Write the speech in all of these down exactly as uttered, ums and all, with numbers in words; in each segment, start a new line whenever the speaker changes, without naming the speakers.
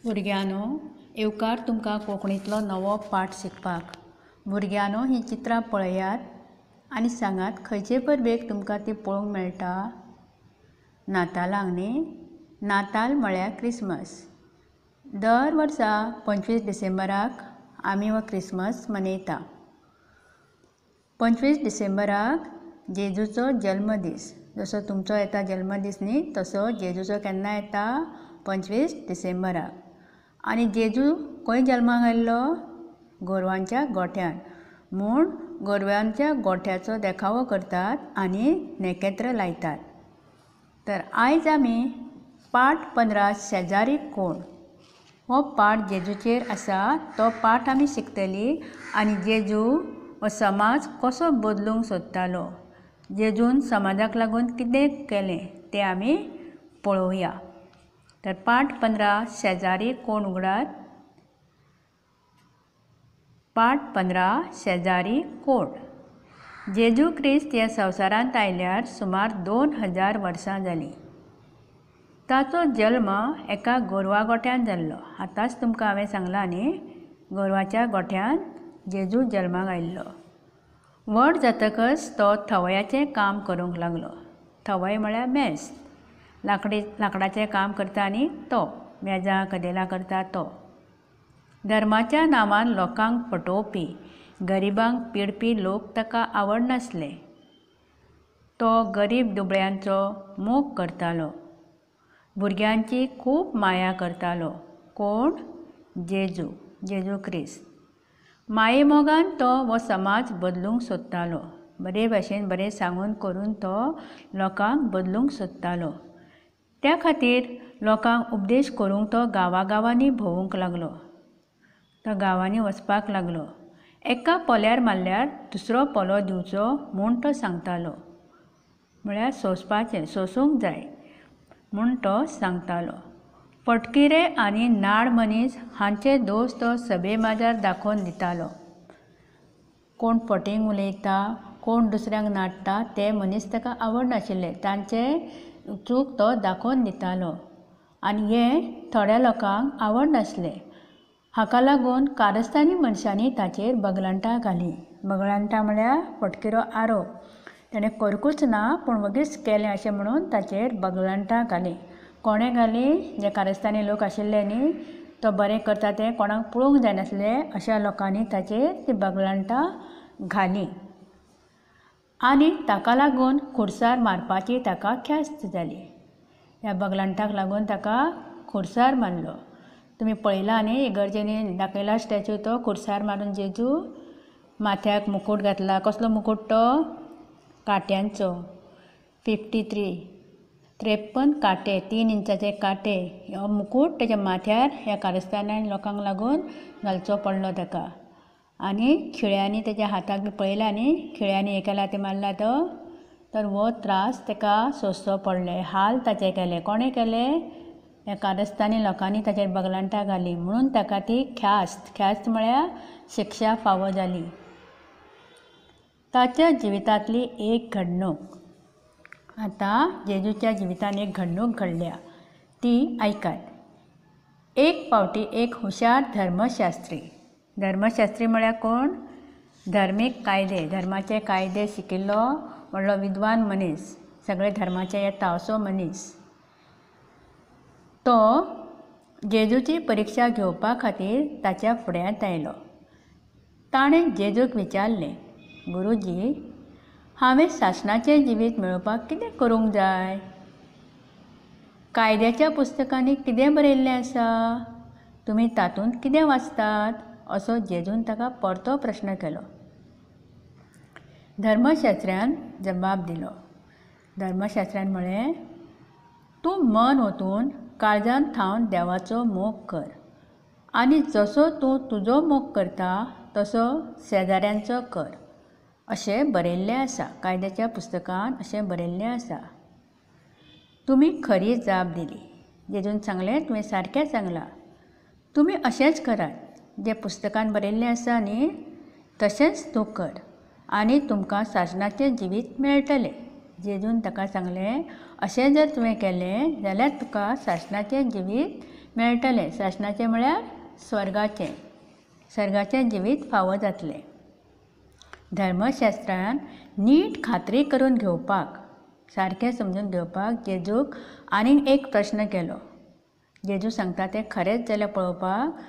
भुरग्यांनो, येवकार तुमकां कोंकणींतलो नवो पाठ शिकपाक. भुरग्यांनो, हीं चित्रां पळयात आनी सांगात खंयचे परबेक तुमकां ती पळोवंक मेळटा? नातालांक न्ही? नाताल म्हळ्यार क्रिसमस. दर वर्सा पंचवीस डिसेंबराक आमी हो क्रिसमस मनयता. पंचवीस डिसेंबराक जेजूचो जल्मदीस. जसो तुमचो येता जल्मदीस न्ही, तसो जेजूचो केन्ना येता? पंचवीस डिसेंबराक. आनी जेजू खंय जल्माक आयल्लो? गोरवांच्या गोठ्यांत. म्हूण गोरवांच्या गोठ्याचो देखावो करतात आनी नेकेत्र लायतात. तर आयज आमी पाठ पंदरा शेजारी कोण हो पाठ जेजूचेर आसा तो पाठ आमी शिकतली. आनी जेजू हो समाज कसो बदलूंक सोदतालो, जेजून समाजाक लागून कितें केलें तें आमी पळोवया. तर पाठ पंदरा शेजारी कोण उगडात. पाठ पंदरा शेजारी कोण. जेजू क्रिस्त ह्या संवसारांत आयल्यार सुमार दोन हजार वर्सां जालीं. ताचो जल्म एका गोरवा गोठ्यांत जाल्लो. आतांच तुमकां हांवें सांगलां न्ही, गोरवाच्या गोठ्यांत जेजू जल्माक आयिल्लो. व्हड जातकच तो थवयाचें काम करूंक लागलो. थवय म्हळ्यार मेस्त. लांकडी लांकडाचें काम करता न्ही तो, मेजां कदेलां करता तो. धर्माच्या नांवान लोकांक फटोवपी, गरिबांक पिडपी लोक ताका आवडनासले. तो गरीब दुबळ्यांचो मोग करतालो. भुरग्यांची खूब माया करतालो. कोण? जेजू, जेजू क्रिस्त. मायेमोगान तो हो समाज बदलूंक सोदतालो. बरे भाशेन बरें सांगून करून तो लोकांक बदलूंक सोदतालो. त्या खातीर लोकांक उपदेश करूंक तो गांवागांवांनी भोंवूंक लागलो. तो गांवांनी वचपाक लागलो. एका पोल्यार मारल्यार दुसरो पोलो दिवचो म्हूण तो सांगतालो. म्हळ्यार सोंसपाचें, सोंसूंक जाय म्हूण तो सांगतालो. फटकिरे आनी नाड मनीस हांचे दोश तो सभे माजार दाखोवन दितालो. कोण फटींग उलयता, कोण दुसऱ्यांक नाडटा ते मनीस ताका आवडनाशिल्ले. तांचे चूक तो दाखोवन दितालो आनी हें थोड्या लोकांक आवडनासलें. हाका लागून कारस्थानी मनशांनी ताचेर बगलांटां घालीं. बगलांटां म्हळ्यार फटकिरो आरोप. ताणें करूंकूच ना पूण वगीच केलें अशें म्हणून ताचेर बगलांटां घालीं. कोणें घालीं? जे कारस्थानी लोक आशिल्ले न्ही, तो बरें करता तें कोणाक पळोवंक जायनासलें अशा लोकांनी ताचेर ती बगलांटां घालीं आनी ताका लागून खुर्सार मारपाची ताका ख्यास्त जाली. ह्या बगलांटाक लागून ताका खुर्सार मारलो. तुमी पळयला न्ही, इगर्जेनी दाखयला स्टॅच्यू, तो खुर्सार मारून जेजू माथ्याक मुकूट घातला. कसलो मुकूट तो? कांट्यांचो. फिफ्टी थ्री त्रेप्पन कांटे, तीन इंचाचे कांटे हो मुकूट ताच्या माथ्यार ह्या कारस्थानान लोकांक लागून घालचो पडलो ताका. आनी खिळ्यांनी ताच्या हाताक बी पळयला न्ही, खिळ्यांनी हे केला ते मारला तो. तर हो त्रास ताका सोंसचो पडले. हाल ताचे केले. कोणें केले? ह्या कारस्थानी लोकांनी ताचेर बगलांटां घालीं म्हणून ताका ती ख्यास्त, ख्यास्त म्हळ्यार शिक्षा फावो जाली. ताच्या जिवितांतली एक घडणूक. आतां जेजूच्या जिवितांत एक घडणूक घडल्या ती आयकात. एक फावटी एक हुशार धर्मशास्त्री. धर्मशास्त्री म्हळ्यार कोण? धर्मीक कायदे, धर्माचे कायदे शिकिल्लो व्हडलो विद्वान मनीस, सगळे धर्माचे येता असो मनीस. तो जेजूची परिक्षा घेवपा खातीर ताच्या फुड्यांत आयलो. ताणें जेजूक विचारलें, गुरुजी, हांवें सासणाचें जिवीत मेळोवपाक कितें करूंक जाय? कायद्याच्या पुस्तकांनी कितें बरयल्लें आसा? तुमी तातूंत कितें वाचतात? असो जेजून ताका परतो प्रश्न केलो. धर्मशास्त्र्यान जबाब दिलो. धर्मशास्त्र्यान म्हळें, तूं मन ओतून काळजान थावन देवाचो मोग कर आनी जसो तूं तुजो मोग करता तसो शेजाऱ्यांचो कर, अशें बरयल्लें आसा. कायद्याच्या पुस्तकांत अशें बरयल्लें आसा. तुमी खरी जाप दिली. जेजून सांगलें, तुवें सारकें सांगलां. तुमी अशेंच करात, जें पुस्तकान बरयल्लें आसा न्ही तशेंच तूं कर आनी तुमकां सासणाचें जिवीत मेळटलें. जेजून ताका सांगलें, अशें जर तुवें केलें जाल्यार तुका सासणाचें जिवीत मेळटलें. सासणाचें म्हळ्यार स्वर्गाचें, स्वर्गाचें जिवीत फावो जातलें. धर्मशास्त्रान नीट खात्री करून घेवपाक, सारकें समजून घेवपाक जेजूक आनीक एक प्रश्न केलो. जेजू सांगता तें खरेंच जाल्यार पळोवपाक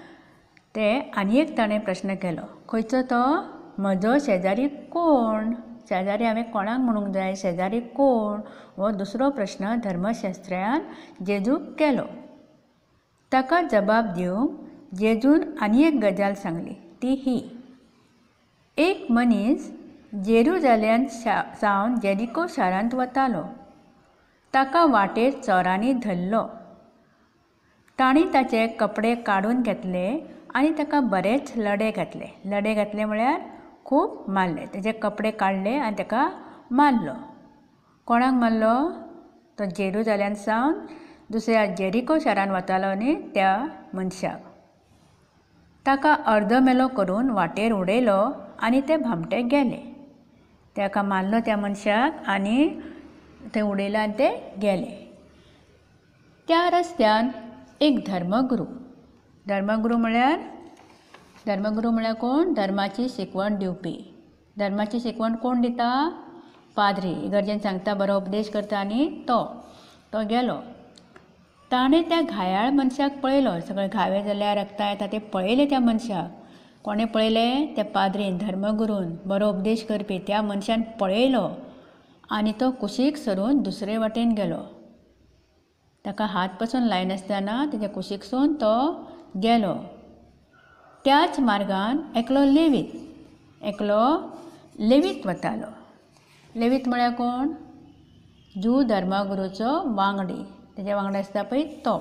ते आनी एक ताणें प्रश्न केलो. खंयचो तो? म्हजो शेजारी कोण? शेजारी हांवें कोणाक म्हणूंक जाय? शेजारी कोण? हो दुसरो प्रश्न धर्मशास्त्र्यान जेजूक केलो. ताका जबाब दिवंक जेजून आनी एक गजाल सांगली, ती ही. एक मनीस जेरुजालेम सावन जेरिको शारांत वतालो. ताका वाटेर चोरांनी धरलो. तांणी ताचे कपडे काडून घेतले आनी ताका बरेच लडे घातले. लडे घातले म्हळ्यार खूब मारले. ताचे कपडे काडले आनी ताका मारलो. कोणाक मारलो? तो जेरुजालेम सावन दुसऱ्या जेरिको शारांत वतालो न्ही त्या मनशाक. ताका अर्दमेलो करून वाटेर उडयलो आनी ते भामटे गेले. ताका मारलो त्या मनशाक आनी थंय उडयलो आनी ते गेले. त्या रस्त्यान एक धर्मगुरू, धर्मगुरू म्हळ्यार धर्मगुरू म्हळ्यार कोण? धर्माची शिकवण दिवपी. धर्माची शिकवण कोण दिता? पाद्री. इगर्जेन सांगता, बरो उपदेश करता आनी तो तो गेलो. ताणें त्या घायाळ मनशाक पळयलो. सगळे घावे जाल्यार रक्ता येता ते पळयले त्या मनशाक. कोणें पळयलें? त्या पाद्रीन, धर्मगुरून, बरो उपदेश करपी त्या मनशान पळयलो आनी तो कुशीक सरून दुसरे वाटेन गेलो. ताका हात पसून लायनासतना ताच्या कुशीकसून तो गेलो. त्याच मार्गान एकलो लेवीत, एकलो लेवीत वतालो. लेवीत म्हळ्यार कोण? ज्यू धर्मगुरूचो वांगडी. ताच्या वांगडा आसता पळय तो.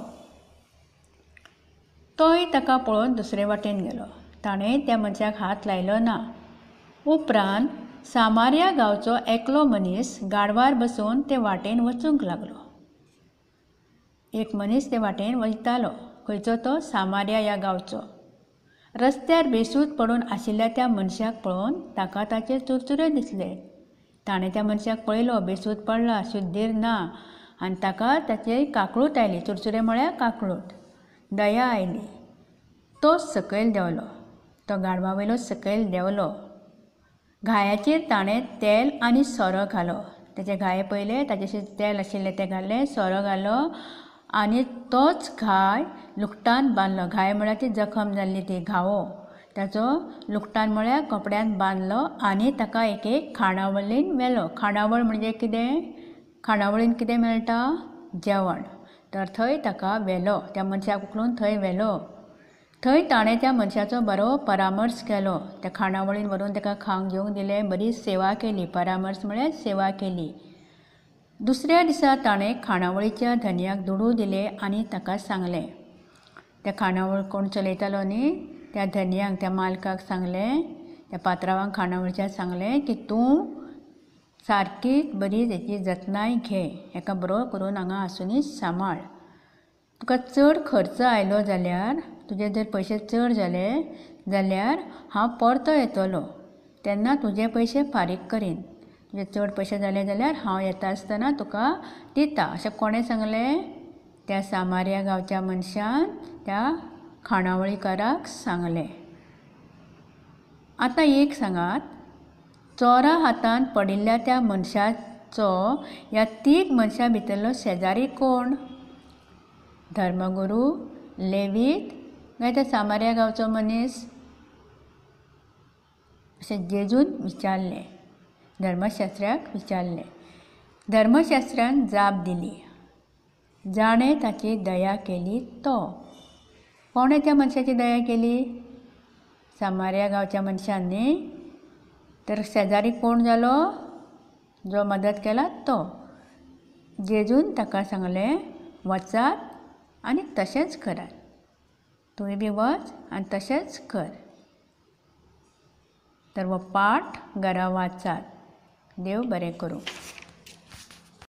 तोय ताका पळोवन दुसरे वाटेन गेलो. ताणें त्या मनशाक हात लायलो ना. उपरांत सामारिया गांवचो एकलो मनीस गाडवार बसून ते वाटेन वचूंक लागलो. एक मनीस ते वाटेन वयतालो. खंयचो तो? सामारिया ह्या गांवचो. रस्त्यार बेसूद पडून आशिल्ल्या त्या मनशाक पळोवन ताका ताचे चुरचुरे दिसले. ताणें त्या मनशाक पळयलो, बेसूद पडला, शुद्धीर ना, आनी ताका ताची काकळूट आयली. चुरचुरे म्हळ्यार काकळूट, दया आयली. तो सकयल देंवलो. तो गाडवा वयलो सकयल देंवलो. घायाचेर ताणें तेल आनी सोरो घालो. ताचे घाये पळयले, ताचें तेल आशिल्लें तें घालें, सोरो घालो आनी तोच घाय लुगटान बांदलो. घाय म्हळ्यार ती जखम जाल्ली, ती घावो. ताचो लुगटान म्हळ्यार कपड्यान बांदलो आनी ताका एक एक खाणावळीन व्हेलो. खाणावळ म्हणजे कितें? खाणावळीन कितें मेळटा? जेवण. तर थंय ताका व्हेलो. त्या मनशाक उखलून थंय व्हेलो. थंय ताणें त्या मनशाचो बरो परामर्श केलो. त्या खाणावळीन व्हरून ताका खावंक जेवंक दिलें, बरी सेवा केली. परामर्श म्हळ्यार सेवा केली. दुसऱ्या दिसा ताणें खाणावळीच्या धनयाक दुडू दिले आनी ताका सांगलें, त्या खाणावळ कोण चलयतालो न्ही त्या धनयाक, त्या मालकाक सांगलें, त्या पात्रावांक खाणावळच्या सांगलें की तूं सारकी बरी तेची जतनाय घे, हेका बरो करून हांगा आसुनी सांबाळ. तुका चड खर्च आयलो जाल्यार, तुजे जर पयशे चड जाले जाल्यार हांव परतो येतलो, तेन्ना तुजे पयशे फारीक करीन. तुजे चड पयशे जाले जाल्यार हांव येता आसतना तुका दिता. अशें कोणें सांगलें? त्या सामारिया गांवच्या मनशान त्या खाणावळीकाराक सांगलें. आतां एक सांगात, चोरा हातान पडिल्ल्या त्या मनशाचो ह्या तीग मनशां भितरलो शेजारी कोण? धर्मगुरू, लेवीत काय त्या सामारिया गांवचो मनीस? अशें जेजून विचारलें, धर्मशास्त्र्याक विचारलें. धर्मशास्त्र्यान जाप दिली, जाणें ताची दया केली तो. कोणें त्या मनशाची दया केली? सामारिया गांवच्या मनशान न्ही. तर शेजारी कोण जालो? जो मदत केला तो. जेजून ताका सांगलें, वचात आनी तशेंच करात. तुवें बी वच आनी तशेंच कर. तर हो पाठ घरा वाचात. देव बरें करूं.